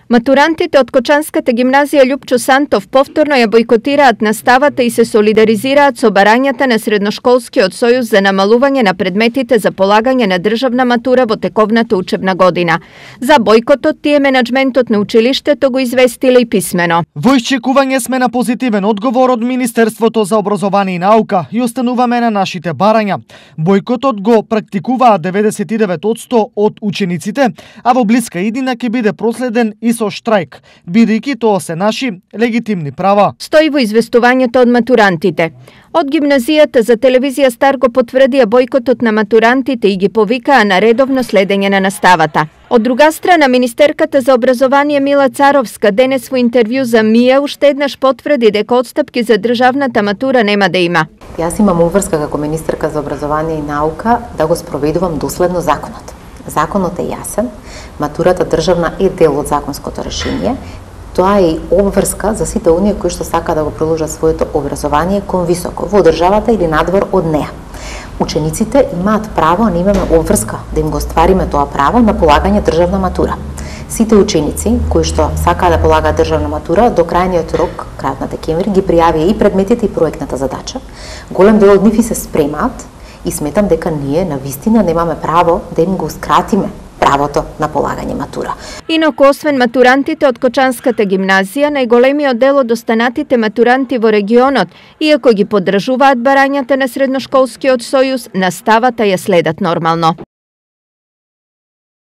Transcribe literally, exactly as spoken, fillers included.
Матурантите од Кочанската гимназија Љупчо Сантов повторно ја бојкотираат наставата и се солидаризираат со барањата на Средношколскиот сојуз за намалување на предметите за полагање на државна матура во тековната учебна година. За бојкотот тие менаџментот на училиштето го известиле и писмено. Во исчекување сме на позитивен одговор од Министерството за образование и наука и остануваме на нашите барања. Бојкотот го практикуваат деветдесет и девет одсто од учениците, а во блиска иднина ќе биде проследен и со штрајк, бидејќи тоа се наши легитимни права. Стои во известувањето од матурантите. Од гимназијата за телевизија Стар го потврдија бојкотот на матурантите и ги повикаа на редовно следење на наставата. Од друга страна, министерката за образование Мила Царовска денес во интервју за МИА уште еднаш потврди дека отстапки за државната матура нема да има. Јас имам обврска како министерка за образование и наука да го спроведувам доследно законот. Законот е јасен, матурата државна е дел од законското решение. Тоа е и обврска за сите оние кои што сака да го продолжат своето образование кон високо, во државата или надвор од неа. Учениците имаат право, а ние имаме обврска да им го ствариме тоа право на полагање државна матура. Сите ученици кои што сакаат да полагаат државна матура до крајниот рок, крајот на декември, ги пријавија и предметите и проектната задача. Голем дел од нив и се спремаат и сметам дека ние на вистина немаме право да им го скратиме правото на полагање матура. Инаку, освен матурантите од Кочанската гимназија, најголемиот дел од останатите матуранти во регионот, иако ги поддржуваат барањата на Средношколскиот сојуз, наставата ја следат нормално.